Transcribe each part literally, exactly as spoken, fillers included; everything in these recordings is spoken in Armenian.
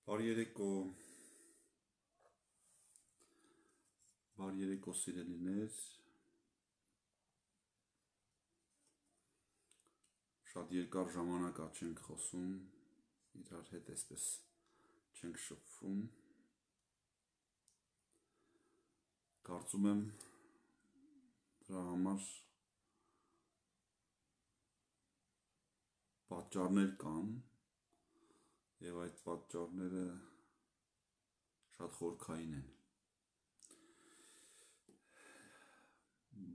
Բարի երեկո, բարի երեկո սիրելիներ, շատ երկար ժամանակ ա չենք խոսում, իրար հետ այսպես չենք շփվում, կարծում եմ դրա համար պատճառներ կան և այդ պատճառները շատ խորքային են։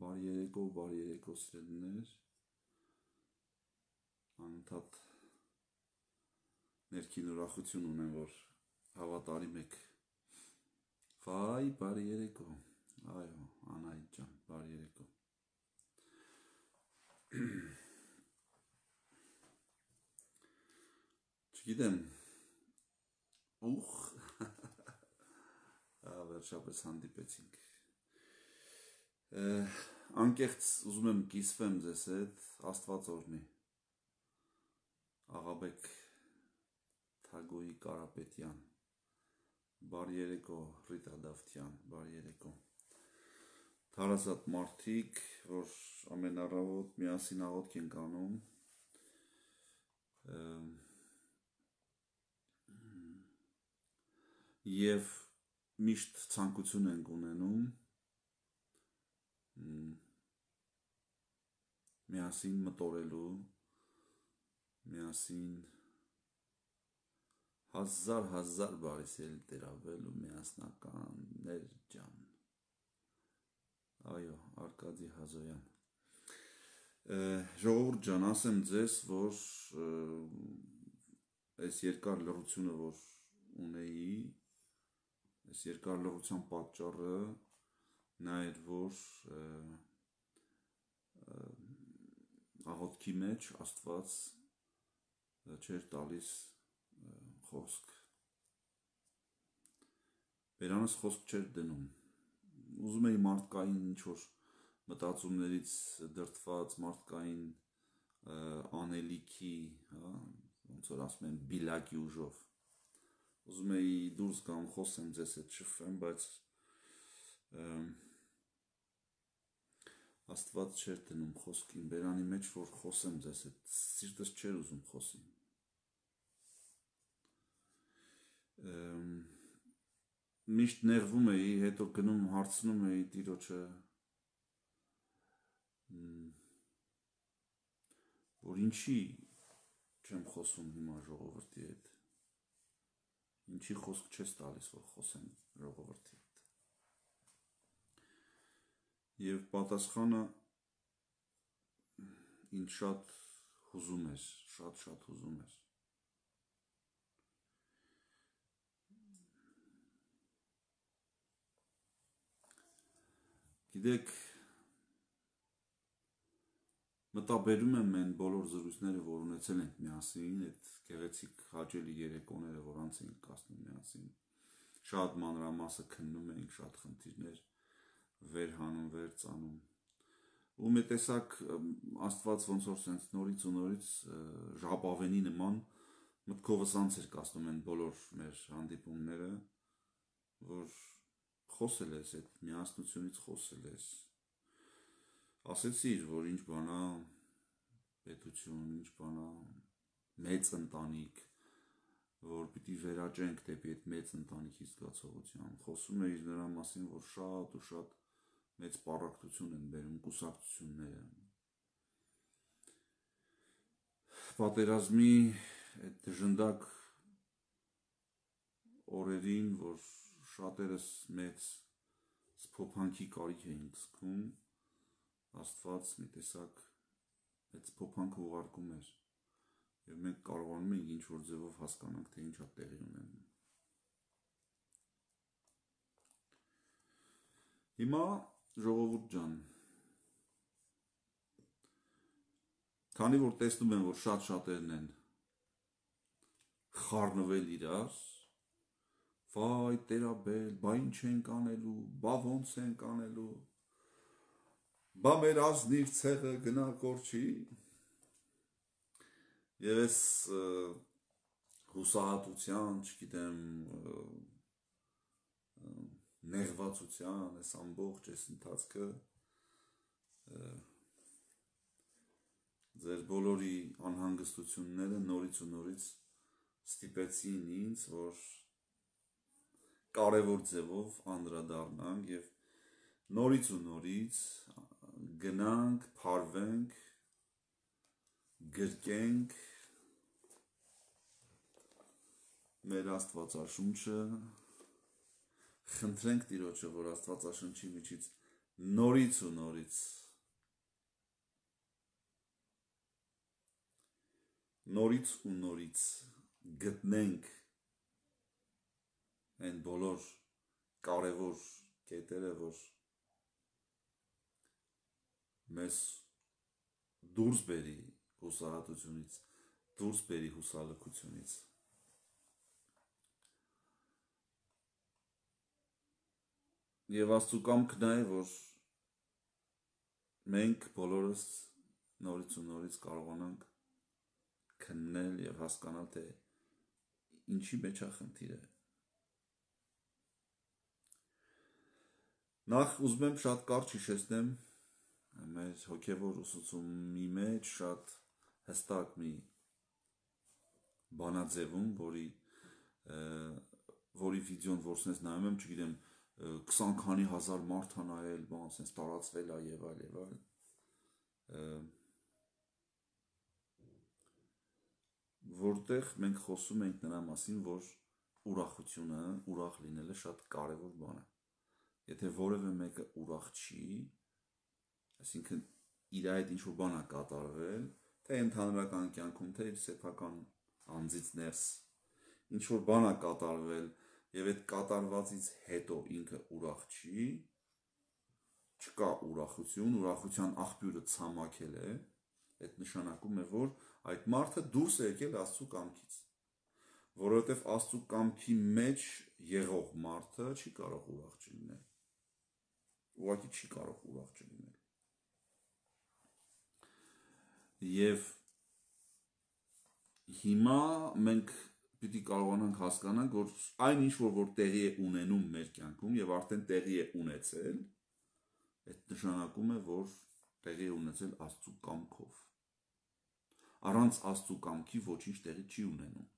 Բարի երեկո, բարի երեկո սիրելիներ, անընդհատ ներքին ուրախություն ունեմ, որ հավատարիմ եք։ Վայ, բարի երեկո, այո, Անահիտ ջան, բարի երեկո։ Չգիտեմ, ուխ, վերջապես հանդիպեցինք։ Անկեղծ ուզում եմ կիսվեմ ձեզ հետ, Աստված օրհնի։ Աղաբեկ Թագոյի Կարապետյան, բարի երեկո Ռիտա Դավթյան, բարի երեկո։ Թարազատ մարդիկ, որ ամեն առավոտ միասին աղոթք ենք անում, և միշտ ցանկություն ենք ունենում միասին մտորելու, միասին հազար հազար բարի սիրելի տերավելու միասնականներ ջան, այո, Արկադի Հազոյան։ Ժողովուրդ ջան, ասեմ ձեզ, որ այս երկար լռությունը, որ ունեի, այս երկար լռության պատճառը նա էր, որ աղոթքի մեջ Աստված չէր տալիս խոսք, բերանս խոսք չէր դնում, ուզում էի մարդկային ինչ-որ մտածումներից դրդված, մարդկային անելիքի, ոնց որ ասում են բիլակի ուժով, ուզում էի դուրս գամ, խոսեմ ձեզ հետ շփվեմ, բայց Աստված չէր դնում խոսքին, բերանի մեջ, որ խոսեմ ձեզ հետ, սիրտս չէր ուզում խոսի։ Միշտ նեղվում էի, հետո գնում հարցնում էի Տիրոջը, որ ինչի չեմ խոսում հիմա ժողովրդի հետ, ինչի խոսք չես տալիս, որ խոսեմ ժողովրդի հետ։ Եվ պատասխանը ինձ շատ հուզում էր, շատ-շատ հուզում էր։ Գիտեք, մտաբերում եմ այն բոլոր զրույցները, որ ունեցել ենք միասին, այդ գեղեցիկ հաճելի երեկոները, որ անց ենք կացնում միասին, շատ մանրամասը քննում ենք, շատ խնդիրներ վեր հանում, վեր ծանում, ու մի տեսակ Աստված ոնց որ սենց նորից ու նորից ժապավենի նման մտքովս անց էր կացնում են բոլոր մեր հանդիպումները, որ խոսել ես, այդ միասնությունից խոսել ես, ասեցիր, որ ինչ բանա պետություն, ինչ բանա մեծ ընտանիք, որ պիտի վերաճենք դեպի այդ մեծ ընտանիքի զգացողության, խոսում էիր նրա մասին, որ շատ ու շատ մեծ պառակտություն են բերում կուսակցությունները, պատերազմի այդ դժնդակ օրերին, որ շատերս մեծ սփոփանքի կարիք էինք զգում, Աստված մի տեսակ այդ սփոփանքը ուղարկում էր, և մենք կարողանում ենք ինչ-որ ձևով հասկանանք, թե ինչ ա տեղի ունենում։ Հիմա ժողովուրդ ջան, քանի որ տեսնում եմ, որ շատ-շատերն են խառնվել իրար, վայ տերաբել, բա ինչ ենք անելու, բա ոնց ենք անելու, բա մեր ազնիվ ցեղը գնա կորչի, և ես հուսահատության, չգիտեմ, նեղվածության, այս ամբողջ այս ընթացքը ձեր բոլորի անհանգստությունները նորից ու նորից ստիպեցին ինձ, որ կարևոր ձևով անդրադառնանք եւ նորից ու նորից գնանք, փարվենք, գրկենք մեր Աստվածաշունչը, խնդրենք Տիրոջը, որ Աստվածաշնչի միջից նորից ու նորից նորից ու նորից գտնենք այն բոլոր կարևոր կետերը, որ մեզ դուրս բերի հուսահատությունից, դուրս բերի հուսալքությունից։ Եվ Աստծու կամքն է, որ մենք բոլորս նորից ու նորից կարողանանք քննել եւ հասկանալ, թե ինչի մեջ է խնդիրը։ Նախ ուզում եմ շատ կարճ հիշեցնեմ մեր հոգևոր ուսուցումի մեջ շատ հստակ մի բանաձևում, որի որի վիդեոն որսնես նայում եմ, չգիտեմ, քսան քանի հազար մարդ է նայել, բան, ասես տարածվել է եւ այլ եւ այլ։ Որտեղ մենք խոսում ենք նրա մասին, որ ուրախությունը, ուրախ լինելը շատ կարևոր բան է։ Եթե որևէ մեկը ուրախ չի, այսինքն իր այդ ինչ-որ բան է կատարվել, թե ընդհանրական կյանքում, թե իր սեփական անձից ներս, ինչ-որ բան է կատարվել, եւ այդ կատարվածից հետո ինքը ուրախ չի, չկա ուրախություն, ուրախության աղբյուրը ցամաքել է, այդ նշանակում է, որ այդ մարդը դուրս է եկել Աստծու կամքից, որովհետև Աստծու կամքի մեջ եղող մարդը չի կարող ուրախ չլինել, ուղղակի չի կարող ուրախ չլինել։ Եվ հիմա մենք պիտի կարողանանք հասկանանք, որ այն ինչ որ որ տեղի է ունենում մեր կյանքում եւ արդեն տեղի է ունեցել, այդ նշանակում է, որ տեղի է ունեցել Աստծու կամքով։ Առանց Աստծու կամքի ոչինչ տեղի չի ունենում։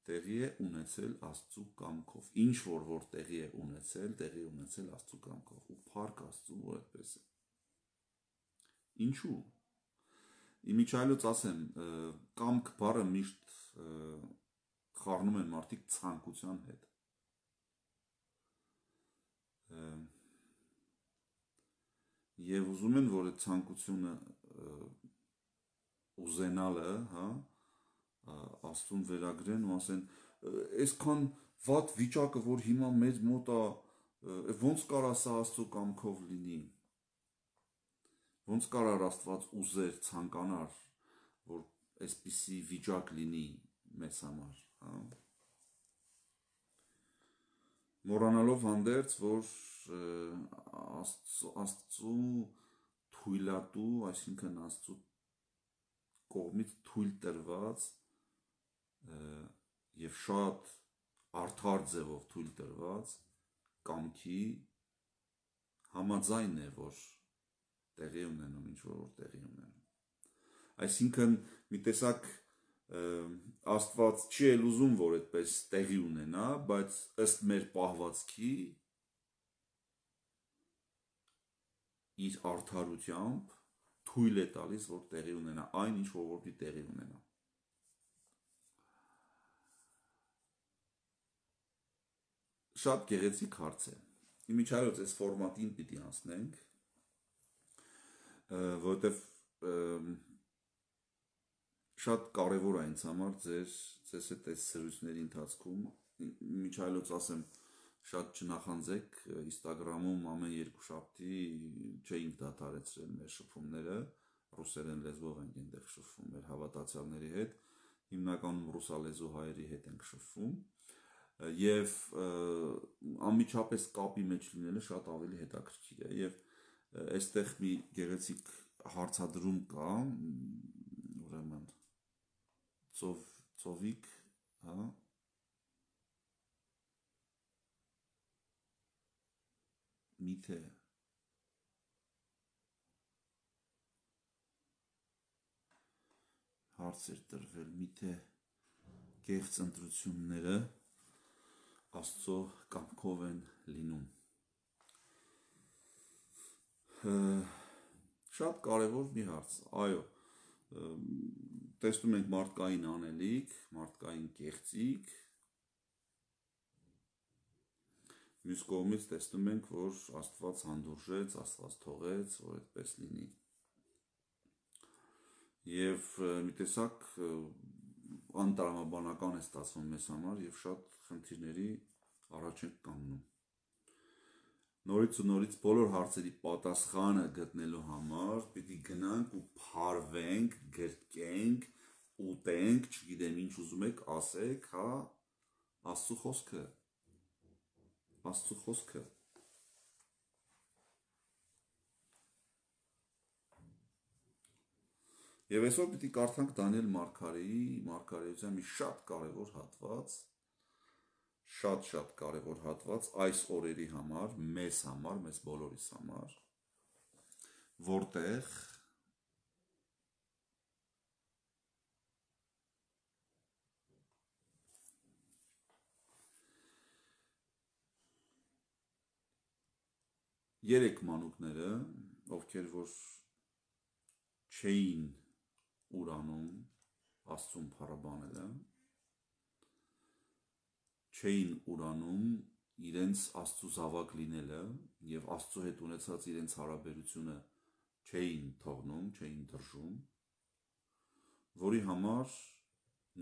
Տեղի է ունեցել Աստծու կամքով։ Ինչ որ որ տեղի է ունեցել, տեղի է ունեցել Աստծու կամքով։ Ու փառք Աստծու, որ այդպես է։ Ինչու՞։ Իմիջայլոց ասեմ, կամք բառը միշտ խառնում են մարդիկ ցանկության հետ։ Եվ ուզում են, որ այդ ցանկությունը ուզենալը, հա, Աստծուն վերագրեն ու ասեն, այսքան վատ վիճակը, որ հիմա մեզ մոտ է, ոնց կարա սա Աստծու կամքով լինի։ Ոնց կարար Աստված ուզեր, ցանկանար, որ այսպիսի վիճակ լինի մեզ համար, հա։ Մոռանալով հանդերձ, որ Աստծու թույլատու, այսինքն Աստծու կողմից թույլ տրված եւ շատ արդար ձևով թույլ տրված կամքի համաձայն է, որ տեղի ունենում, ինչ որ տեղի ունենում։ Այսինքն մի տեսակ Աստված չի էլ ուզում, որ այդպես տեղի ունենա, բայց ըստ մեր պահվածքի իր արդարությամբ թույլ է տալիս, որ տեղի ունենա այն, ինչ որ որ տեղի ունենա։ Շատ գեղեցիկ հարց է։ Իմիջայլոց այս ֆորմատին պիտի անցնենք, որովհետև շատ կարևոր է ինձ համար ձեր ձեզ հետ այս սրույցների ընթացքում, միջայլոց ասեմ, շատ չնախանձեք, Instagram-ում ամեն երկուշաբթի չէինք դադարեցրել մեր շփումները, ռուսերեն լեզվով ենք այնտեղ շփվում մեր հավատացյալների հետ, հիմնականում ռուսալեզու հայերի հետ ենք շփվում, եւ անմիջապես կապի մեջ լինելը շատ ավելի հետաքրքիր է, եւ այստեղ մի գեղեցիկ հարցադրում կա, ուրեմն ծով, ծովիկ, հա, միթե հարց էր տրվել, միթե կեղծ ընտրությունները Աստծո կամքով են լինում։ Շատ կարևոր մի հարց, այո, տեսնում ենք մարդկային անելիք, մարդկային կեղծիք, մյուս կողմից տեսնում ենք, որ Աստված հանդուրժեց, Աստված թողեց, որ այդպես լինի։ Եվ մի տեսակ անտրամաբանական է ստացվում մեզ համար և շատ խնդիրների առաջ ենք կանգնում։ Նորից ու նորից բոլոր հարցերի պատասխանը գտնելու համար պիտի գնանք ու փարվենք, գրկենք, ուտենք, չգիտեմ ինչ ուզում եք ասեք, հա, Աստծո խոսքը, Աստծո խոսքը։ Եվ այսօր պիտի կարդանք Դանիել մարգարեի մարգարեության մի շատ կարևոր հատված, շատ-շատ կարևոր հատված այս օրերի համար, մեզ համար, մեզ բոլորիս համար, որտեղ երեք մանուկները, ովքեր որ չէին ուրանում Աստծուն փառաբանելը, չէին ուրանում իրենց Աստծու զավակ լինելը և Աստծու հետ ունեցած իրենց հարաբերությունը չէին թողնում, չէին դրժում, որի համար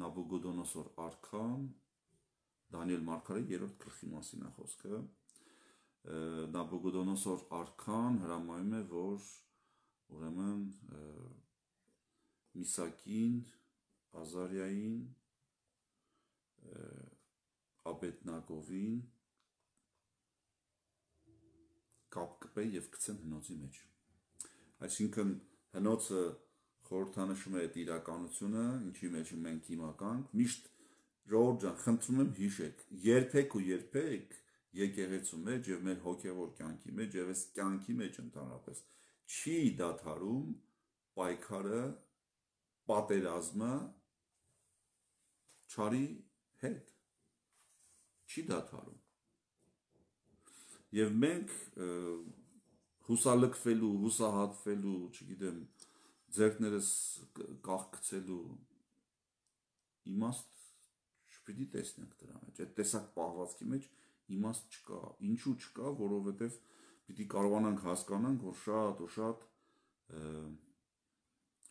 Նաբուգոդոնոսոր արքան, Դանիել մարգարեի երրորդ գլխի մասին է խոսքը, Նաբուգոդոնոսոր արքան հրամայում է, որ ուրեմն Միսակին, Ազարիային, Աբեդնագովին կապ կպե և գցեն հնոցի մեջ։ Այսինքն հնոցը խորհրդանշում է այդ իրականությունը, ինչի մեջ մենք հիմա կանք, միշտ ժողովուրդ ջան, խնդրում եմ հիշեք, երբեք ու երբեք եկեղեցու մեջ և մեր հոգևոր կյանքի մեջ և այս կյանքի մեջ ընդհանրապես չի դադարում պայքարը, պատերազմը չարի հետ, չի դադարում։ Եվ մենք հուսալքվելու, հուսահատվելու, չգիտեմ, ձեռքներս կաղկցելու իմաստ չպիտի տեսնենք դրա մեջ, այդ տեսակ պահվածքի մեջ իմաստ չկա, ինչու չկա, որովհետև պիտի կարողանանք հասկանանք, որ շատ ու շատ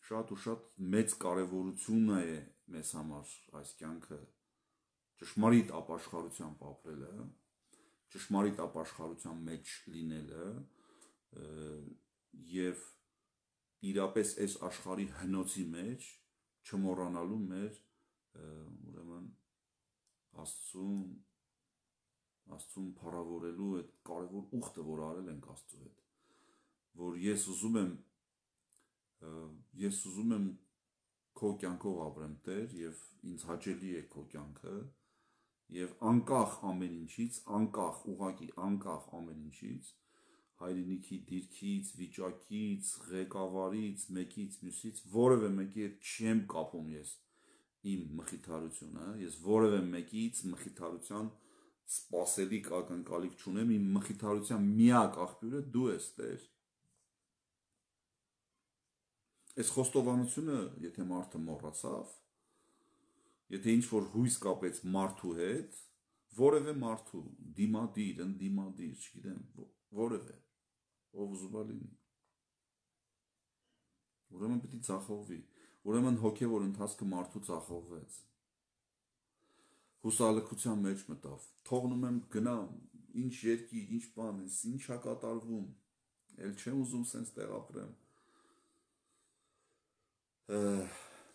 շատ ու շատ մեծ կարևորություն է մեզ համար այս կյանքը ճշմարիտ ապաշխարությամբ ապրելը, ճշմարիտ ապաշխարության մեջ լինելը և իրապես այս աշխարհի հնոցի մեջ չմոռանալու մեր ուրեմն Աստծուն Աստծուն փառավորելու այդ կարևոր ուխտը, որ արել ենք Աստծո հետ, որ ես ուզում եմ ես ուզում եմ քո կյանքով ապրեմ Տեր և ինձ հաճելի է քո կյանքը և անկախ ամեն ինչից, անկախ, ուղղակի անկախ ամեն ինչից, հայրենիքի դիրքից, վիճակից, ղեկավարից, մեկից, մյուսից, որևէ մեկի հետ չեմ կապում ես իմ մխիթարությունը, ես որևէ մեկից մխիթարության սպասելիք ակնկալիք չունեմ, իմ մխիթարության միակ աղբյուրը դու ես Տեր։ Այս խոստովանությունը, եթե մարդը մոռացավ, եթե ինչ-որ հույս կապեց մարդու հետ, որևէ մարդու, դիմադիր, ընդդիմադիր, չգիտեմ, որևէ, ով ուզում է լինի, ուրեմն պիտի ձախողվի, ուրեմն հոգևոր ընթացքը մարդու ձախողվեց, հուսալքության մեջ մտավ, թողնում եմ գնամ, ինչ երկիր, ինչ բան ես, ինչ է կատարվում, էլ չեմ ուզում սենց տեղ ապրեմ,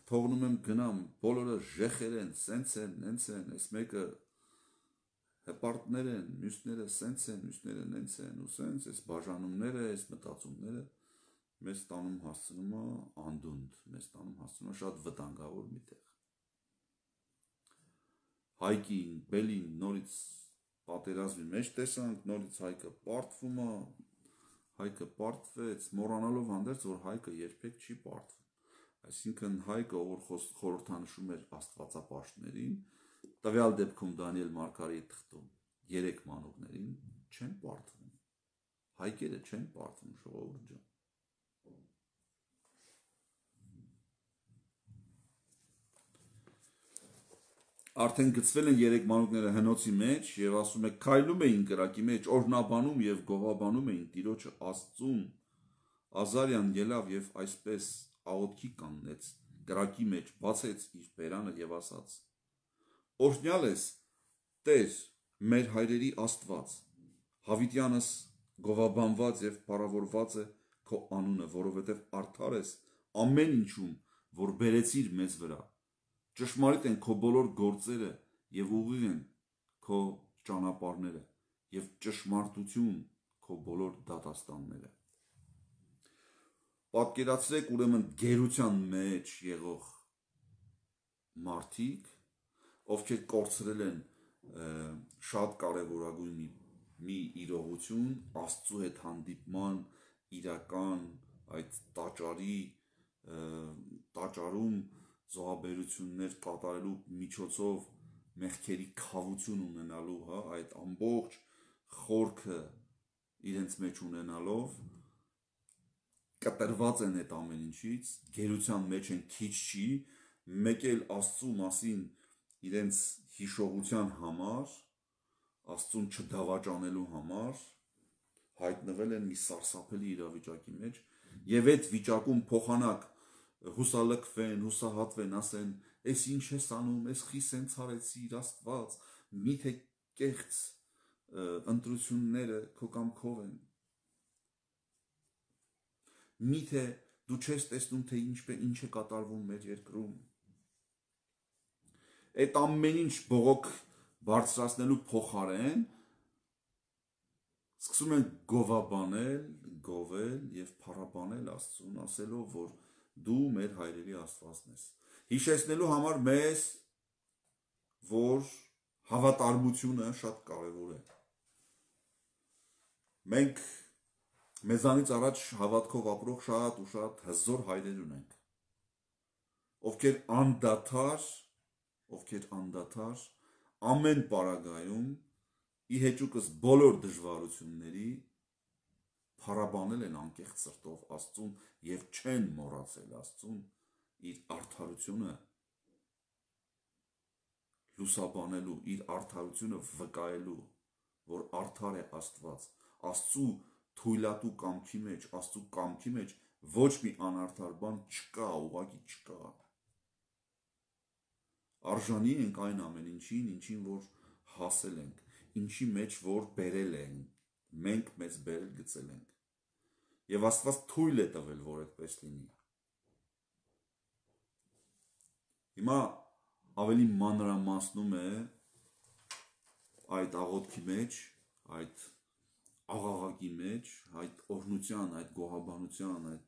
թողնում եմ գնամ, բոլորը ժեխեր են, սենց են, նենց են, այս մեկը հպարտներ են, մյուսները սենց են, մյուսները նենց են, ու սենց, այս բաժանումները, այս մտածումները մեզ տանում հասցնում է անդունդ, մեզ տանում հասցնում է շատ վտանգավոր մի տեղ։ Հայկին, Բելին նորից պատերազմի մեջ տեսանք, նորից Հայկը պարտվում է, Հայկը պարտվեց, մոռանալով հանդերձ, որ Հայկը երբեք չի պարտվում։ Այսինքն Հայկը, որ խորհրդանշում էր աստվածապաշտներին, տվյալ դեպքում Դանիել Մարգարեի թղթում երեք մանուկներին չեն պարտվում։ Հայկերը չեն պարտվում, ժողովուրդ ջան։ Արդեն գծվել են երեք մանուկները հնոցի մեջ եւ ասում է քայլում էին կրակի մեջ, օրհնաբանում եւ գովաբանում էին Տիրոջը Աստծուն։ Ազարյան ելավ եւ այսպես աղոթքի կանգնեց, կրակի մեջ բացեց իր բերանը եւ ասաց. Օրհնյալ ես Տեր, մեր հայրերի Աստված, Հավիտյանս գովաբանված եւ փառավորված է քո անունը, որովհետեւ արդար ես ամեն ինչում, որ բերեցիր մեզ վրա։ Ճշմարիտ են քո բոլոր գործերը եւ ուղիղ են քո ճանապարհները եւ ճշմարտություն քո բոլոր դատաստանները։ Պատկերացրեք ուրեմն գերության մեջ եղող մարդիկ, ովքեր կորցրել են շատ կարևորագույն մի, մի իրողություն, Աստծո հետ հանդիպման իրական այդ տաճարի տաճարում զոհաբերություններ կատարելու միջոցով մեղքերի քավություն ունենալու, հա, այդ ամբողջ խորքը իրենց մեջ ունենալով կտրված են այդ ամեն ինչից, գերության մեջ են, քիչ չի, մեկ էլ Աստծու մասին իրենց հիշողության համար, Աստծուն չդավաճանելու համար հայտնվել են մի սարսափելի իրավիճակի մեջ եւ այդ վիճակում փոխանակ հուսալքվեն, հուսահատվեն, ասեն, «Էս ինչ ես անում, էս խի սենց արեցիր, Աստված, միթե կեղծ ընտրությունները քո կամքով են։ Միթե դու չես տեսնում, թե ինչ է կատարվում մեր երկրում»։ Այդ ամեն ինչ բողոք բարձրացնելու փոխարեն սկսում են գովաբանել, գովել եւ փառաբանել Աստծուն, ասելով, որ դու մեր հայրերի Աստվածն ես, հիշեցնելու համար մեզ, որ հավատարմությունը շատ կարևոր է։ Մենք մեզանից առաջ հավատքով ապրող շատ ու շատ հզոր հայրեր ունենք, ովքեր անդադար, ովքեր անդադար ամեն պարագայում ի հեճուկս բոլոր դժվարությունների փառաբանել են անկեղծ սրտով Աստծուն եւ չեն մոռացել Աստծուն իր արդարությունը լուսաբանելու, իր արդարությունը վկայելու, որ արդար է Աստված, Աստծու թույլատու կամքի մեջ, Աստծու կամքի մեջ ոչ մի անարդար բան չկա, ուղղակի չկա։ Արժանի ենք այն ամեն ինչին, ինչին որ հասել ենք, ինչի մեջ որ բերել ենք, մենք մեզ բերել գցել ենք։ Եվ Աստված թույլ է տվել, որ այդպես լինի։ Հիմա ավելի մանրամասնում է այդ աղոթքի մեջ, այդ աղաղակի մեջ, այդ օրհնության, այդ գոհաբանության, այդ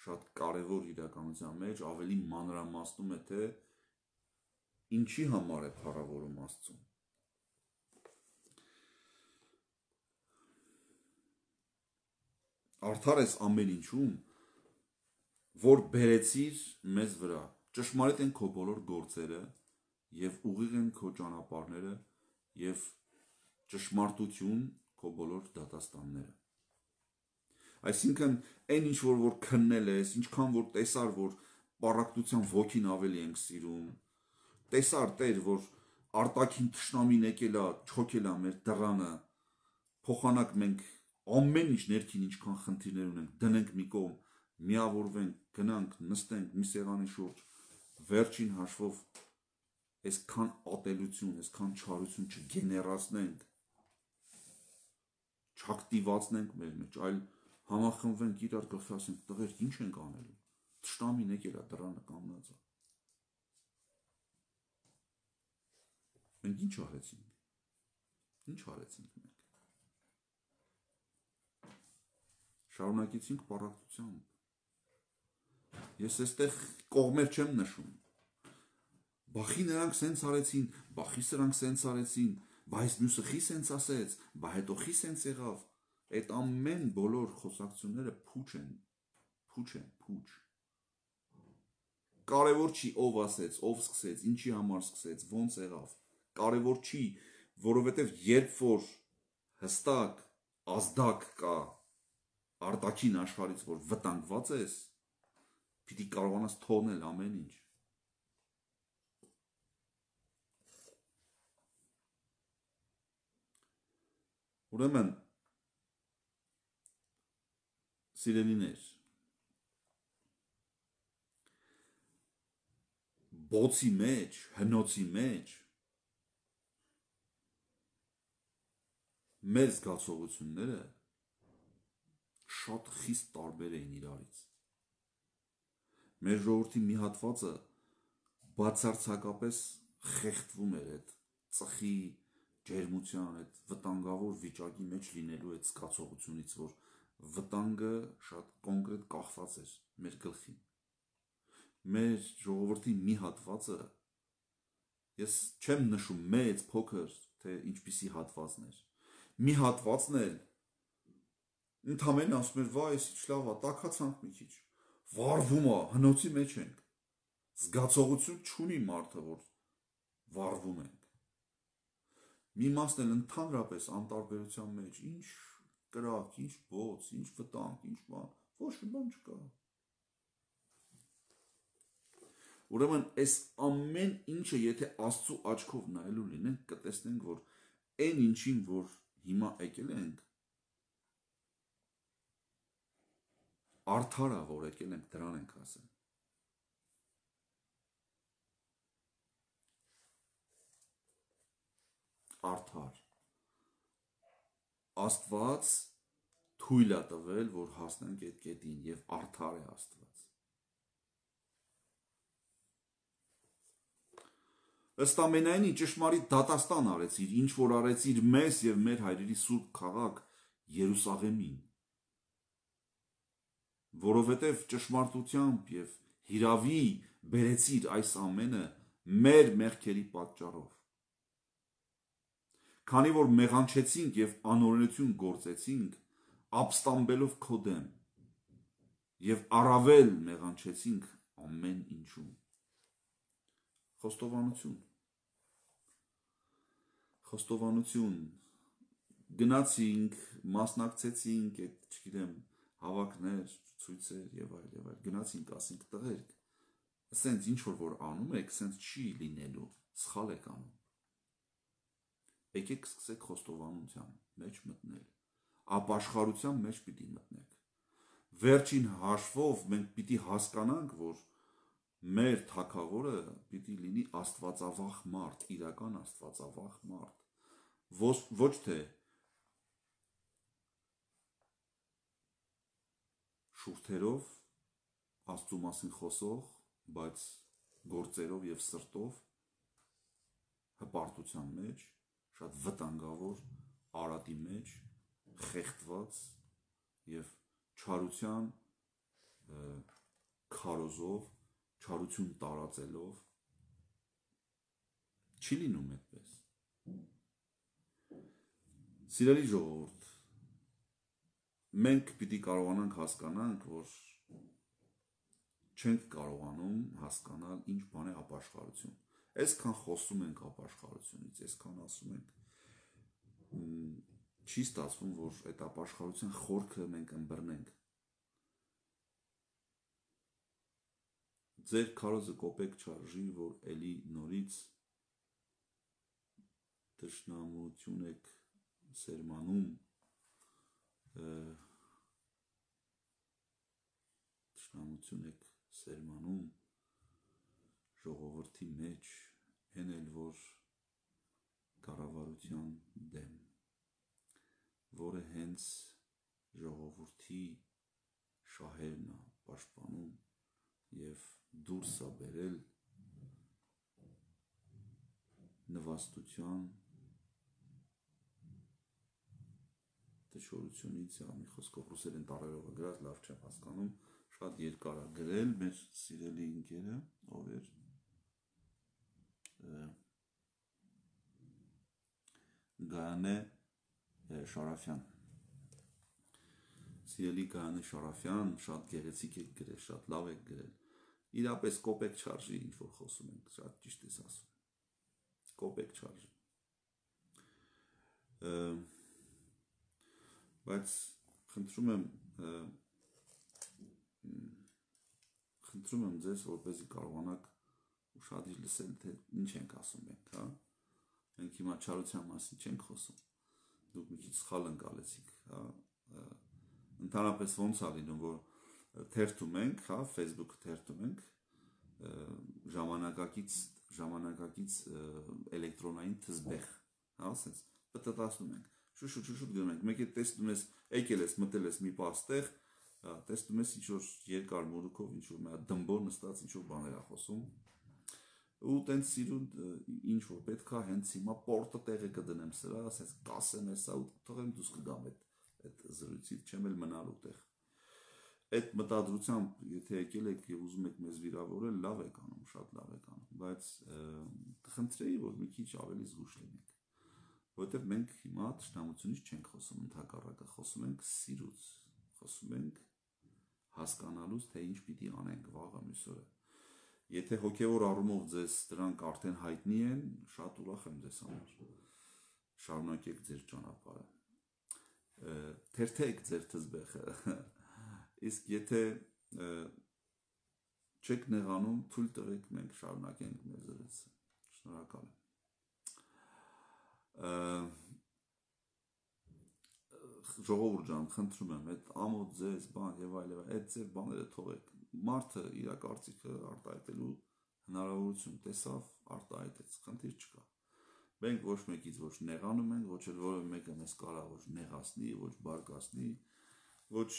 շատ կարևոր իրականության մեջ ավելի մանրամասնում է, թե ինչի համար է փառավորում Աստծուն։ Արդար ես ամեն ինչում, որ բերեցիր մեզ վրա, ճշմարիտ են քո բոլոր գործերը եւ ուղիղ են քո ճանապարհները եւ ճշմարտություն քո բոլոր դատաստանները։ Այսինքն այն ինչ որ որ քննել ես, ինչքան որ տեսար, որ պառակտության ոգին ավելի ենք սիրում, տեսար Տեր, որ արտաքին թշնամին եկել է, չոքել է մեր դռանը, փոխանակ մենք ամեն ինչ ներքին ինչքան խնդիրներ ունենք, դնենք մի կողմ, միավորվենք, գնանք, նստենք մի սեղանի շուրջ, վերջին հաշվով այսքան ատելություն, այսքան չարություն չգեներացնենք, չակտիվացնենք մեր մեջ, այլ համախմբվենք իրար գլխի ասենք, տղեր, ինչ ենք անելու, թշնամին եկել է դռանը կանգնած է։ Մենք ինչ արեցինք, ինչ արեցինք մենք, շարունակեցինք պառակտությամբ, ես այստեղ կողմեր չեմ նշում, Բախի նրանք սենց արեցին, բախի սրանք սենց արեցին, բա այս մյուսը խի սենց ասեց, բա հետո խի սենց եղավ։ Այդ ամեն բոլոր խոսակցությունները փուչ են, փուչ են, փուչ։ Կարևոր չի ով ասեց, ով սկսեց, ինչի համար սկսեց, ոնց եղավ։ Կարևոր չի, որովհետև երբ որ հստակ ազդակ կա արտաքին աշխարհից, որ վտանգված ես, պիտի կարողանաս թողնել ամեն ինչ։ Ուրեմն, սիրելիներ, բոցի մեջ, հնոցի մեջ մեր զգացողությունները շատ խիստ տարբեր էին իրարից։ Մեր ժողովրդի մի հատվածը բացարձակապես խեղդվում էր այդ ծխի ջերմության, այդ վտանգավոր վիճակի մեջ լինելու այդ զգացողությունից, որ վտանգը շատ կոնկրետ կախված էր մեր գլխին։ Մեր ժողովրդի մի հատվածը, ես չեմ նշում մեծ, փոքր, թե ինչպիսի հատվածն էր, մի հատվածն էլ ընդամենը ասում էր, վայ, էս ինչ լավ է, տաքացանք մի քիչ, վառվում է, հնոցի մեջ ենք, զգացողություն չունի մարդը, որ վառվում ենք։ Մի մասն էլ ընդհանրապես անտարբերության մեջ, ինչ կրակ, ինչ բոց, ինչ վտանգ, ինչ բան, ոչ մի բան չկա։ Ուրեմն այս ամեն ինչը եթե Աստծու աչքով նայելու լինենք, կտեսնենք, որ այն ինչին, որ հիմա եկել ենք, արդար է, որ եկել ենք, դրան ենք ասել։ Արդար։ Աստված թույլ է տվել, որ հասնենք այդ կետին, եւ արդար է Աստված։ Ըստ ամենայնի ճշմարիտ դատաստան արեցիր, ինչ որ արեցիր մեզ եւ մեր հայրերի սուրբ քաղաք Երուսաղեմին, որովհետեւ ճշմարտությամբ եւ հիրավի բերեցիր այս ամենը մեր մեղքերի պատճառով։ Քանի որ մեղանչեցինք եւ անօրենություն գործեցինք, ապստամբելով քո դեմ, եւ առավել մեղանչեցինք ամեն ինչում։ Խոստովանություն։ Խոստովանություն, գնացինք, մասնակցեցինք այդ, չգիտեմ, հավաքներ, ցույցեր եւ այլ եւ այլ, գնացինք, ասինք տղերք, ասենց ինչ որ որ անում եք, ասենց չի լինելու, սխալ եք անում։ Եկեք սկսեք խոստովանության մեջ մտնել, ապաշխարության մեջ պիտի մտնեք։ Վերջին հաշվով մենք պիտի հասկանանք, որ մեր թագավորը պիտի լինի աստվածավախ մարդ, իրական աստվածավախ մարդ, ոչ, ոչ թե շուրթերով Աստծու մասին խոսող, բայց գործերով եւ սրտով հպարտության մեջ, շատ վտանգավոր արատի մեջ, խեղդված եւ չարության քարոզով, չարություն տարածելով, չի լինում այդպես։ Սիրելի ժողովուրդ, մենք պիտի կարողանանք հասկանանք, որ չենք կարողանում հասկանալ ինչ բան է ապաշխարություն։ Այսքան խոսում ենք ապաշխարությունից, այսքան ասում ենք, չի ստացվում, որ այդ ապաշխարության խորքը մենք ըմբռնենք։ Ձեր քարոզը կոպեկ չարժի, որ էլի նորից թշնամություն եք սերմանում, թշնամություն եք սերմանում ժողովրդի մեջ, են էլ որ կառավարության դեմ, որը հենց ժողովրդի շահերն է պաշտպանում եւ դուրս է բերել նվաստության դժորությունից, մի խոսքով ռուսերեն տառերով գրած, լավ չեմ հասկանում, շատ երկար է գրել մեր սիրելի ընկերը, ով էր Գայանե Շարաֆյան։ Սիրելի Գայանե Շարաֆյան, շատ գեղեցիկ եք գրել, շատ լավ եք գրել։ Իրապես կոպեկ չարժի, ինչ որ խոսում ենք, շատ ճիշտ ես ասում։ Կոպեկ չարժի։ Բայց խնդրում եմ խնդրում եմ ձեզ, որպեսզի կարողանաք ուշադիր լսել, թե ինչ ենք ասում մենք, հա։ Մենք հիմա չարության մասին չենք խոսում։ Դուք մի քիչ սխալ ընկալեցիք, հա։ Ընդհանրապես ոնց է լինում, որ թերթում ենք, հա, Facebook-ը թերթում ենք, ժամանակակից ժամանակակից էլեկտրոնային թզբեղ, հա, ասենց պտտացնում ենք, շուշուտ շուշուտ գնում ենք, մեկ է տեսնում ես, եկել ես, մտել ես մի պաստեղ, տեսնում ես ինչ-որ երկար մորուքով, ինչ-որ մի հատ դմբոր նստած, ինչ-որ բաներ է խոսում, ու տենց սիրուն ինչ-որ պետք է հենց հիմա պորտը տեղը կդնեմ սրա, ասես կասեմ հեսա ու թողեմ դուս կգամ այդ զրույցից, չեմ էլ մնալու տեղ։ Այդ մտադրությամբ, եթե եկել եք և ուզում եք մեզ վիրավորել, լավ եք անում, շատ լավ եք անում, բայց խնդրեի, որ մի քիչ ավելի զգուշ լինենք, որովհետև մենք հիմա թշնամությունից չենք խոսում, ընդհակառակը խոսում ենք սիրուց, խոսում ենք հասկանալուց, թե ինչ պիտի անենք վաղը մյուս օրը։ Եթե հոգևոր առումով ձեզ դրանք արդեն հայտնի են, շատ ուրախ եմ ձեզ համար, շարունակեք ձեր ճանապարհը, թերթեք ձեր թզբեղը, իսկ եթե չեք նեղանում, թույլ տվեք, մենք շարունակենք մեր զրույցը, շնորհակալ եմ։ Ժողովուրդ ջան, խնդրում եմ, այդ ամոթ ձեզ բան եւ այլ, այդ ձեր բաները թողեք։ Մարդը իր կարծիքը արտահայտելու հնարավորություն տեսավ, արտահայտեց, խնդիր չկա։ Մենք ոչ մեկից ոչ նեղանում ենք, ոչ էլ որևէ մեկը մեզ կարա ոչ նեղացնի, ոչ բարկացնի, ոչ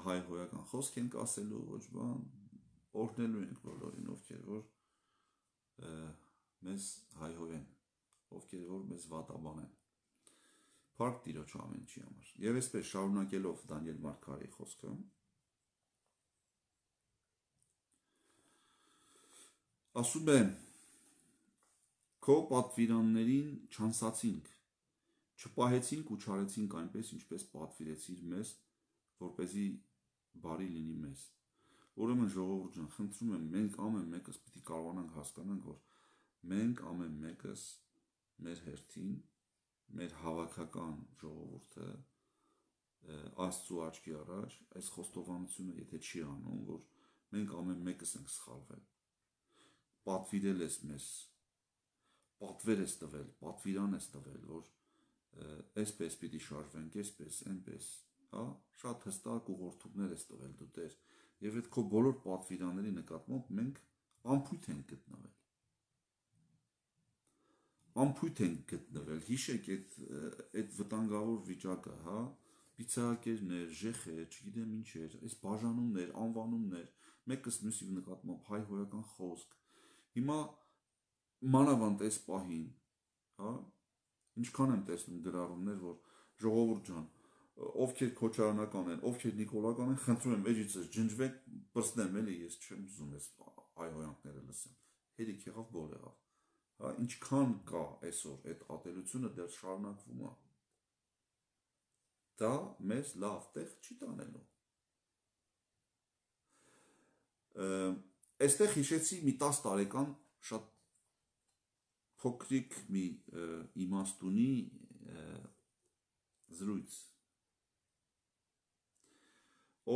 հայհոյական խոսք ենք ասելու, ոչ բան, օրհնելու ենք բոլորին, ովքեր որ մեզ հայհոյեն, ովքեր որ մեզ վատաբանեն։ Փառք Տիրոջ ամեն ինչի համար։ Եվ այսպես շարունակելով Դանիել Մարգարեի խոսքը, ասում է, քո պատվիրաններին չանսացինք, չպահեցինք ու չարեցինք այնպես, ինչպես պատվիրեցիր մեզ, որպեսզի բարի լինի մեզ։ Ուրեմն ժողովուրդ ջան, խնդրում եմ, մենք ամեն մեկս պիտի կարողանանք հասկանանք, որ մենք ամեն մեկս մեր հերթին, մեր հավաքական ժողովուրդը Աստծու աչքի առաջ այս խոստովանությունը եթե չի անում, որ մենք ամեն մեկս ենք սխալվել, պատվիրել ես մեզ, պատվեր ես տվել, պատվիրան ես տվել, որ այսպես պիտի շարժվենք, այսպես, այնպես, հա, շատ հստակ ուղղորդումներ ես տվել դու Տեր, եւ այդ քո բոլոր պատվիրանների նկատմամբ մենք անփույթ ենք գտնվել։ Անփույթ ենք գտնվել, հիշեք այդ այդ վտանգավոր վիճակը, հա, պիցակերներ, ժեխեր, չգիտեմ ինչեր, այս բաժանումներ, անվանումներ, մեկս մյուսի նկատմամբ հայհոյական խոսք։ Հիմա մանավանդ այս պահին, հա, ինչքան եմ տեսնում գրառումներ, որ ժողովուրդ ջան, ովքեր քոչարանական են, ովքեր նիկոլական են, խնդրում եմ, էջիցս ջնջվեք, պրծնեմ էլի, ես չեմ ուզում այս հայհոյանքները լսեմ։ Հերիք եղավ, բոլ եղավ։ Հա, ինչքան կա այսօր այդ ատելությունը դեռ շարունակվում է։ Դա մեզ լավ տեղ չի տանելու։ Այստեղ հիշեցի մի տասը տարեկան շատ փոքրիկ մի իմաստունի զրույց,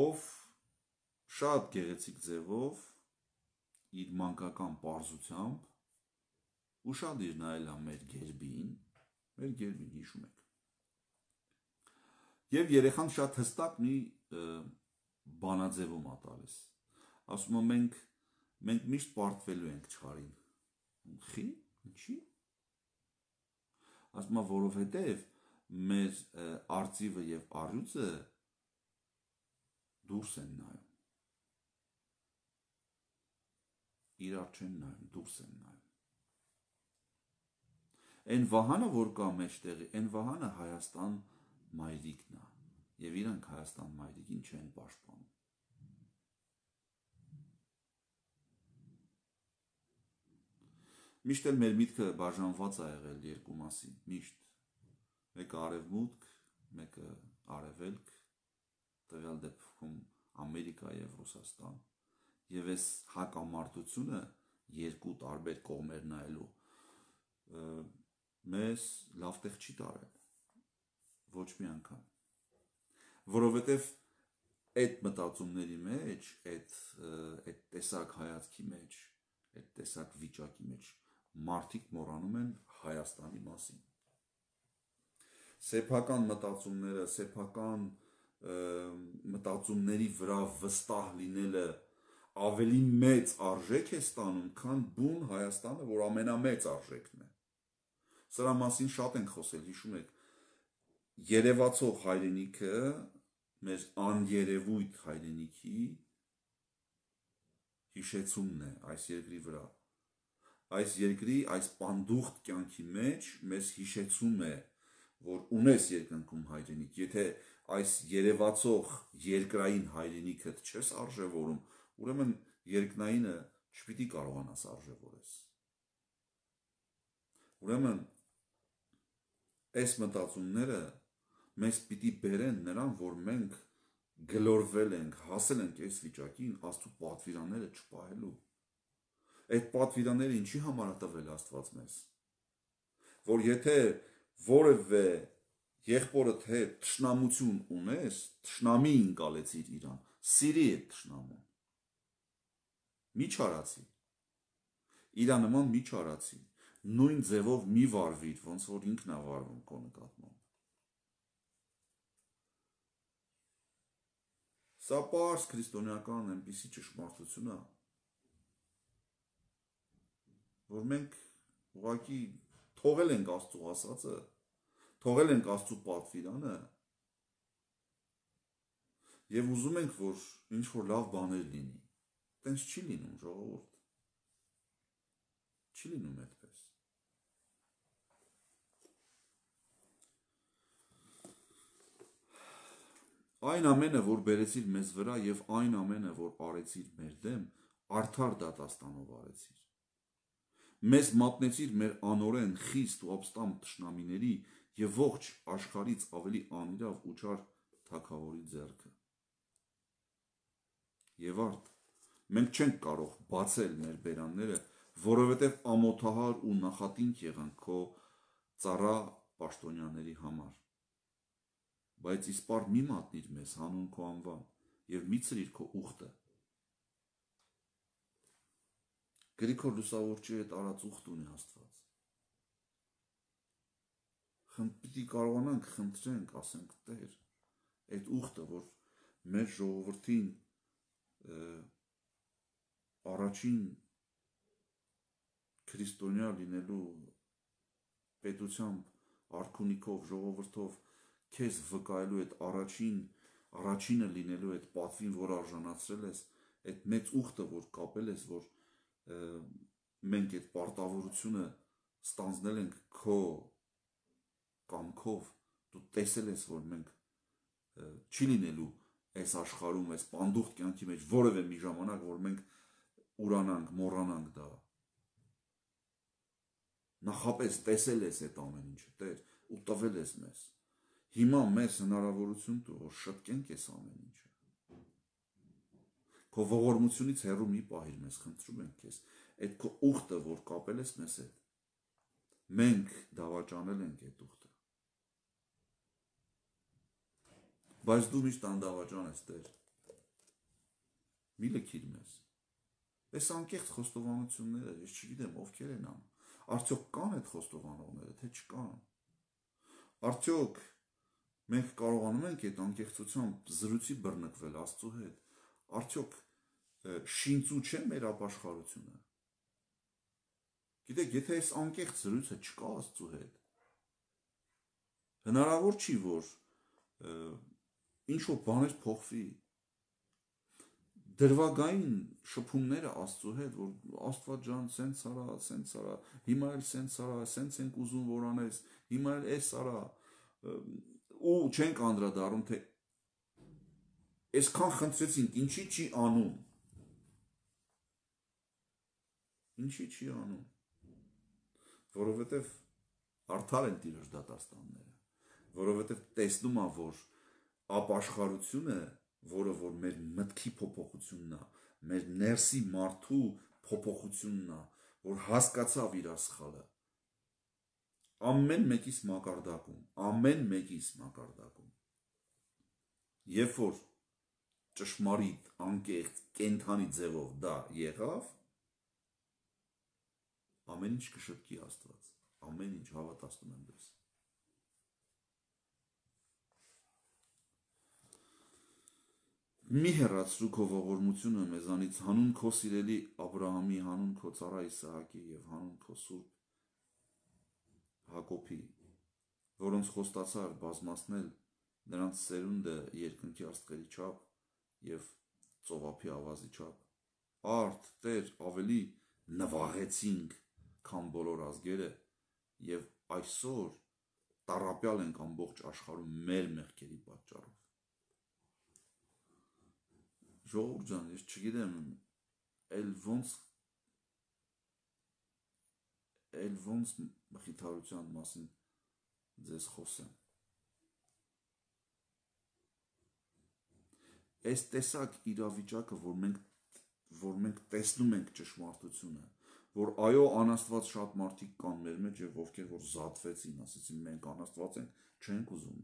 ով շատ գեղեցիկ ձևով իր մանկական պարզությամբ ուշադիր նայել է մեր գերբին, մեր գերբին հիշում եք։ Եվ երեխան շատ հստակ մի բանաձևում է տալիս։ Ասում է մենք մենք միշտ պարտվելու ենք չարին։ Խի, ինչի՞։ Ասում է որովհետև մեր արծիվը եւ առյուծը դուրս են նայում։ Իրար չեն նայում, դուրս են նայում։ Այն վահանը, որ կա մեջտեղի, այն վահանը Հայաստան մայրիկն է, եւ իրանք Հայաստան մայրիկին չեն պաշտպանում։ Միշտ էլ մեր միտքը բաժանված է եղել երկու մասի, միշտ, Մեկը արևմուտք, մեկը արևելք, տվյալ դեպքում Ամերիկա եւ Ռուսաստան, եւ այս հակամարտությունը երկու տարբեր կողմեր նայելու մեզ լավ տեղ չի տարել, ոչ մի անգամ, որովհետեւ այդ մտածումների մեջ, այդ այդ տեսակ հայացքի մեջ, այդ տեսակ վիճակի մեջ մարդիկ մոռանում են Հայաստանի մասին։ Սեփական մտածումները, սեփական մտածումների վրա վստահ լինելը ավելի մեծ արժեք է ստանում, քան բուն Հայաստանը, որ ամենամեծ արժեքն է։ Սրա մասին շատ ենք խոսել, հիշում եք, երևացող հայրենիքը, մեր աներևույթ հայրենիքի հիշեցումն է այս երկրի վրա։ Այս երկրի, այս պանդուխտ կյանքի մեջ մեզ հիշեցում է, որ ունես երկնքում հայրենիք, եթե այս երևացող երկրային հայրենիքդ չես արժևորում, ուրեմն երկնայինը չպիտի կարողանաս արժևորես։ Ուրեմն այս մտածումները մեզ պիտի բերեն նրան, որ մենք գլորվել ենք, հասել ենք այս վիճակին Աստծո պատվիրանները չպահելու։ Այդ պատվիրանները ինչի համար է տվել Աստված մեզ, որ եթե որևէ եղբորդ հետ թշնամություն ունես, թշնամի ընկալեցիր իրան, սիրի այդ թշնամուն, մի չարացի, իրա նման մի չարացի, նույն ձևով մի վարվիր, ոնց որ ինքն է վարվում քո նկատմամբ։ Սա պարզ քրիստոնեական այնպիսի ճշմարտություն է, որ մենք ուղղակի թողել ենք Աստծո ասածը, թողել ենք Աստծո պատվիրանը եւ ուզում ենք, որ ինչ որ լավ բաներ լինի։ Տենց չի լինում, ժողովուրդ։ Չի լինում այդպես։ Այն ամենը, որ բերեցիր մեզ վրա եւ այն ամենը, որ արեցիր մեր դեմ, արդար դատաստանով արեցիր։ Մեզ մատնեցիր մեր անօրեն, խիստ ու ապստամբ թշնամիների եւ ողջ աշխարհից ավելի անիրավ ու չար թագավորի ձեռքը։ Եվ արդ, մենք չենք կարող բացել մեր բերանները, որովհետև ամոթահար ու նախատինք եղանք քո ծառա պաշտոնյաների համար։ Բայց իսպառ մի մատնիր մեզ հանուն քո անվան եւ մի ցրիր քո ուխտը։ Գրիգոր Լուսավորչի հետ արած ուխտ ունի Աստված։ Խնդրի պիտի կարողանանք խնդրենք, ասենք Տեր, այդ ուխտը, որ մեր ժողովրդին առաջին քրիստոնյա լինելու պետությամբ արքունիքով, ժողովրդով քեզ վկայելու այդ առաջին առաջինը լինելու այդ պատվին, որ արժանացրել ես, այդ մեծ ուխտը, որ կապել ես, որ մենք այդ պարտավորությունը ստանձնել ենք քո կամքով, դու տեսել ես, որ մենք չի լինելու այս աշխարհում, այս պանդուխտ կյանքի մեջ որևէ մի ժամանակ, որ մենք ուրանանք, մոռանանք դա։ Նախապես տեսել ես այդ ամեն ինչը, Տեր, ու տվել ես մեզ։ Հիմա մեզ հնարավորություն տու, որ շտկենք այս ամեն ինչը։ Քո ողորմությունից հեռու մի պահիր մեզ, խնդրում ենք քեզ, այդ քո ուխտը, որ կապել ես մեզ հետ, մենք դավաճանել ենք այդ ուխտը։ Բայց դու միշտ անդավաճան ես, Տեր։ Մի լքիր մեզ։ Այս անկեղծ խոստովանությունները, ես չգիտեմ ովքեր են անում։ Արդյոք կան այդ խոստովանողները, թե չկան։ Արդյոք մենք կարողանում ենք այդ անկեղծությամբ զրույցի բռնկվել Աստծո հետ։ Արդյոք շինծու չէ մեր ապաշխարությունը։ Գիտեք, եթե այս անկեղծ զրույցը չկա Աստծո հետ, հնարավոր չի, որ ինչ որ բաներ փոխվի։ Դրվագային շփումները Աստծո հետ, որ Աստված ջան, սենց արա, սենց արա, հիմա էլ սենց արա, սենց ենք ուզում որ անես, հիմա էլ էս արա, ու չենք անդրադառնում, թե այսքան խնդրեցինք, ինչի չի անում։ Ինչի չի անում։ Որովհետև արդար են Տիրոջ դատաստանները։ որովհետև տեսնում է, որ ապաշխարությունը, որը որ մեր մտքի փոփոխությունն է, մեր ներսի մարդու փոփոխությունն է, որ հասկացավ իր սխալը, ամեն մեկիս մակարդակում, ամեն մեկիս մակարդակում, երբ որ ճշմարիտ, անկեղծ, կենդանի ձևով դա եղավ, ամեն ինչ կշտկի Աստված, ամեն ինչ հավատացնում եմ դες։ Մի հեռացրու քո ողորմությունը մեզանից, հանուն քո սիրելի Աբրահամի, հանուն քո ծառա Իսահակի եւ հանուն քո սուրբ Հակոբի, որոնց խոստացար բազմացնել նրանց սերունդը երկնքի աստղերի չափ եւ ծովափի ավազի չափ, արդ Տեր ավելի նվաղեցինք, քան բոլոր ազգերը, եւ այսօր տառապյալ ենք ամբողջ աշխարհում մեր մեղքերի պատճառով։ Ժողովուրդ ջան, ես չգիտեմ, էլ ոնց էլ ոնց մխիթարության մասին ձեզ խոսեմ։ Այս տեսակ իրավիճակը, որ մենք որ մենք տեսնում ենք ճշմարտությունը, որ այո, անաստված շատ մարդիկ կան մեր մեջ եւ ովքեր որ զատվեցին, ասեցին մենք անաստված ենք, չենք ուզում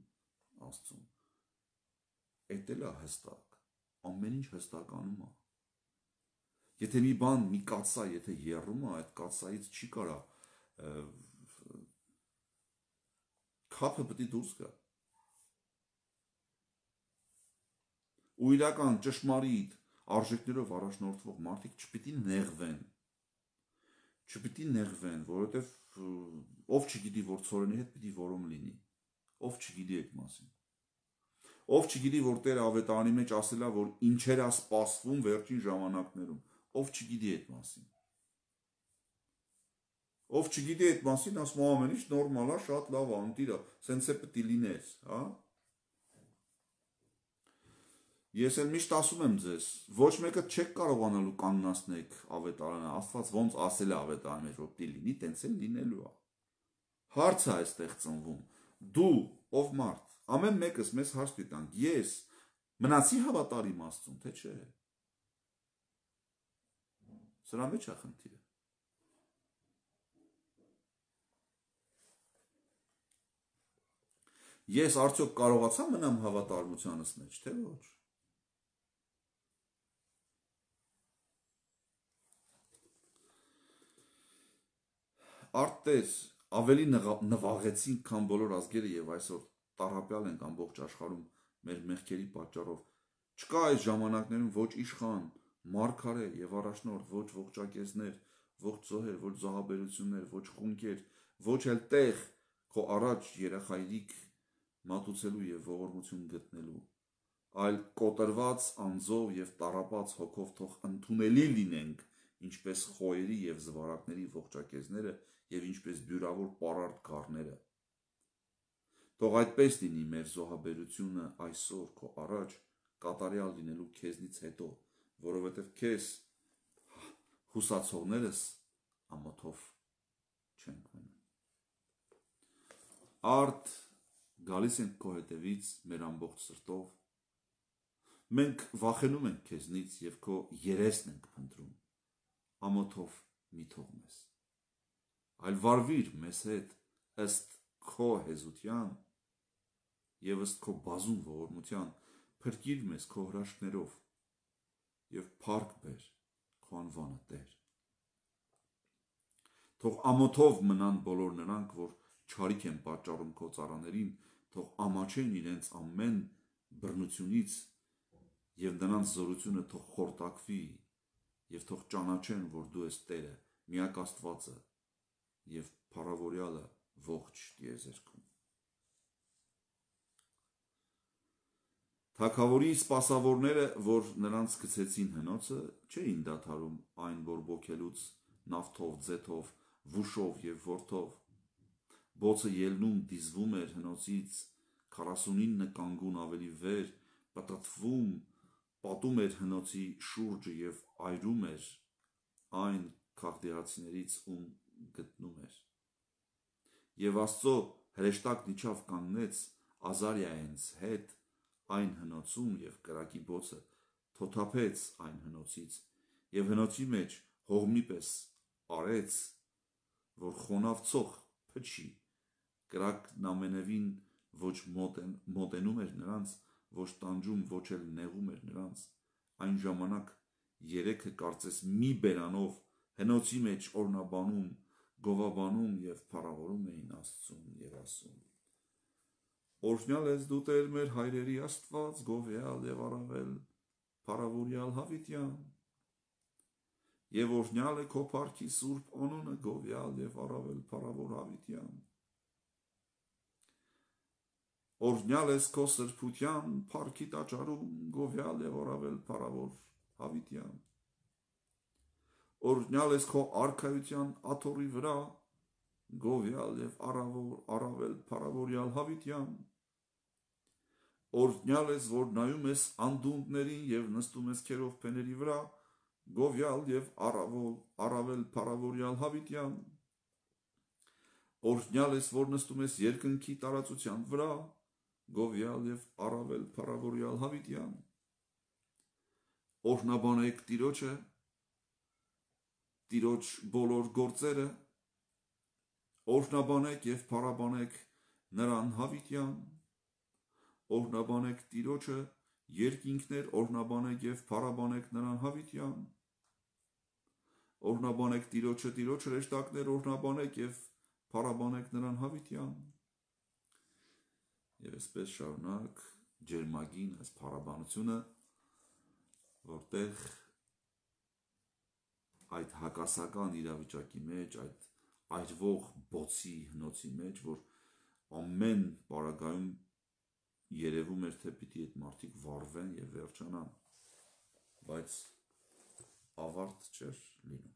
Աստծուն։ Էդ էլ է հստակ, ամեն ինչ հստականում է։ Եթե մի բան, մի կաթսա, եթե եռում է, այդ կաթսայից չի կարա քափը պետք է դուրս գա։ Ու իրական ճշմարիտ արժեքներով առաջնորդվող մարդիկ չպիտի նեղվեն։ Չպիտի նեղվեն, որովհետև ով չգիտի, որ ցորենի հետ պիտի որոմ լինի։ Ով չգիտի այդ մասին։ Ով չգիտի, որ Տերը ավետարանի մեջ ասել է, որ ինչեր է սպասվում վերջին ժամանակներում։ Ով չգիտի այդ մասին։ Ով չգիտի այդ մասին, ասում է ամեն ինչ նորմալ է, շատ լավ է, ընտիր է, սենց է պետք է լիներ, հա։ Ես էլ միշտ ասում եմ ձեզ, ոչ մեկը չեք կարողանալու կանգնացնել ավետարանը, Աստված ոնց ասել է ավետարանի մեջ, որ պիտի լինի, տենց էլ լինելու է։ Հարց է այստեղ ծնվում։ Դու, ով մարդ, ամեն մեկս մեզ հարց տանք, ես մնացի հավատարիմ Աստծուն, թե չէ։ Սրա մեջ է խնդիրը։ Ես արդյոք կարողացա մնամ հավատարմությանս մեջ, թե ոչ։ Արտեր ավելի նվաղեցինք, քան բոլոր ազգերը եւ այսօր տառապյալ ենք ամբողջ աշխարհում մեր մեղքերի պատճառով։ Չկա այս ժամանակներում ոչ իշխան, մարգարե եւ առաջնորդ, ոչ ողջակեզներ, ոչ զոհեր, ոչ զոհաբերություններ, ոչ խունկեր, ոչ էլ տեղ քո առաջ երախայրիկ մատուցելու եւ ողորմություն գտնելու, այլ կոտրված անձով եւ տառապած հոգով թող ընդունելի լինենք, ինչպես խոյերի եւ զվարակների ողջակեզները եւ ինչպես բյուրավոր պարարտ գառները։ Թող այդպես լինի մեր զոհաբերությունը այսօր քո առաջ կատարյալ լինելու քեզնից հետո, որովհետև քեզ հուսացողներս ամոթով չենք մնում։ Արդ գալիս ենք քո հետևից մեր ամբողջ սրտով։ Մենք վախենում ենք քեզնից եւ քո երեսն ենք փնտրում։ Ամոթով մի թող մեզ։ Այլ վարվիր մեզ հետ ըստ քո հեզության եւ ըստ քո բազում ողորմության, փրկիր մեզ քո հրաշքներով եւ փառք բեր քո անվանը Տեր։ Թող ամոթով մնան բոլոր նրանք, որ չարիք են պատճառում քո ծառաներին, թող ամաչեն իրենց ամեն բռնությունից եւ նրանց զորությունը թող խորտակվի եւ թող ճանաչեն, որ դու ես Տերը, միակ Աստվածը եւ փառավորյալը ողջ տիեզերքում։ Թագավորի սպասավորները, որ նրանց գցեցին հնոցը, չէին դադարում այն բորբոքելուց նավթով, ձեթով, վուշով եւ որդով։ Բոցը ելնում դիզվում էր հնոցից, քառասունինը կանգուն ավելի վեր, պտտվում, պատում էր հնոցի շուրջը եւ այրում էր այն քաղդեացիներից, ում գտնում էր։ Եվ Աստծո հրեշտակն իջավ կանգնեց, Ազարիայենց հետ այն հնոցում և կրակի բոցը թոթափեց այն հնոցից և հնոցի մեջ հողմի պես արեց, որ խոնավ ծող փչի, կրակն ամենևին ոչ մոտենում էր նրանց, ոչ տանջում, ոչ էլ նեղում էր նրանց, այն ժամանակ երեքը կարծես մի բերանով հնոցի մեջ օրնաբանում, գովաբանում և փառավորում էին Աստծուն և ասում. Օրհնյալ ես դու Տեր մեր հայրերի Աստված, գովյալ և առավել փառավորյալ հավիտյան, և օրհնյալ է քո փառքի սուրբ անունը, գովյալ և առավել փառավոր հավիտյան, օրհնյալ ես քո սրբության փառքի տաճարում, գովյալ և առավել փառավոր հավիտյան, օրհնյալ ես քո արքայության աթոռի վրա, գովյալ և առավել փառավորյալ հավիտյան, օրհնյալ ես, որ նայում ես անդունդներին և նստում ես քերով փեների վրա, գովյալ և առավել փառավորյալ հավիտյան, օրհնյալ ես, որ նստում ես երկնքի տարածության վրա, գովյալ և առավել փառավորյալ հավիտյան, օրհնաբանեք Տիրոջը, Տիրոջ բոլոր գործերը, օրհնաբանեք և փառաբանեք նրան հավիտյան, օրհնաբանեք Տիրոջը, երկինքներ, օրհնաբանեք և փառաբանեք նրան հավիտյան, օրհնաբանեք Տիրոջը, Տիրոջ հրեշտակներ, օրհնաբանեք և փառաբանեք նրան հավիտյան, և այսպես շարունակ ջերմագին այս փառաբանությունը, որտեղ այդ հակասական իրավիճակի մեջ, այդ այրվող բոցի հնոցի մեջ, որ ամեն պարագայում երևում էր, թե պիտի այդ մարդիկ վառվեն և վերջանան, բայց ավարտ չէր լինում։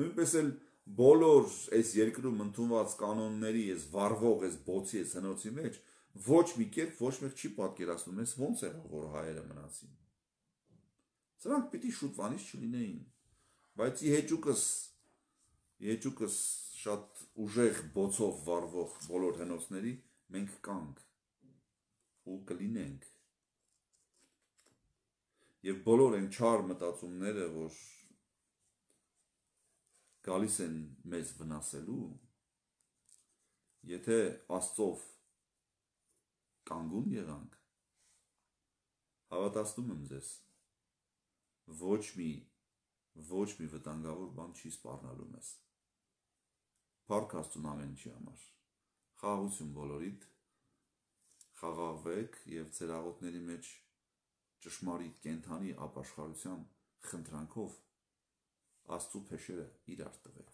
Նույնպես էլ բոլոր այս երկրում ընդունված կանոնների, այս վառվող, այս բոցի, այս հնոցի մեջ ոչ մի կերպ ոչ մեկ չի պատկերացնում, այս ոնց եղավ, որ հայերը մնացին։ Սրանք պիտի շուտվանից չլինեին, բայց ի հեճուկս, ի հեճուկս շատ ուժեղ բոցով վառվող բոլոր հնոցների մենք կանք ու կլինենք։ Եվ բոլոր այն չար մտածումները, որ գալիս են մեզ վնասելու, եթե Աստծով կանգուն եղանք, հավատացնում եմ ձեզ, ոչ մի, ոչ մի վտանգավոր բան չի սպառնալու մեզ։ Փառք Աստծուն ամեն ինչի համար։ Խաղաղություն բոլորիդ, խաղաղվեք և ձեր աղոթների մեջ ճշմարիտ կենդանի ապաշխարության խնդրանքով Աստծու փեշերը իրար տվեք։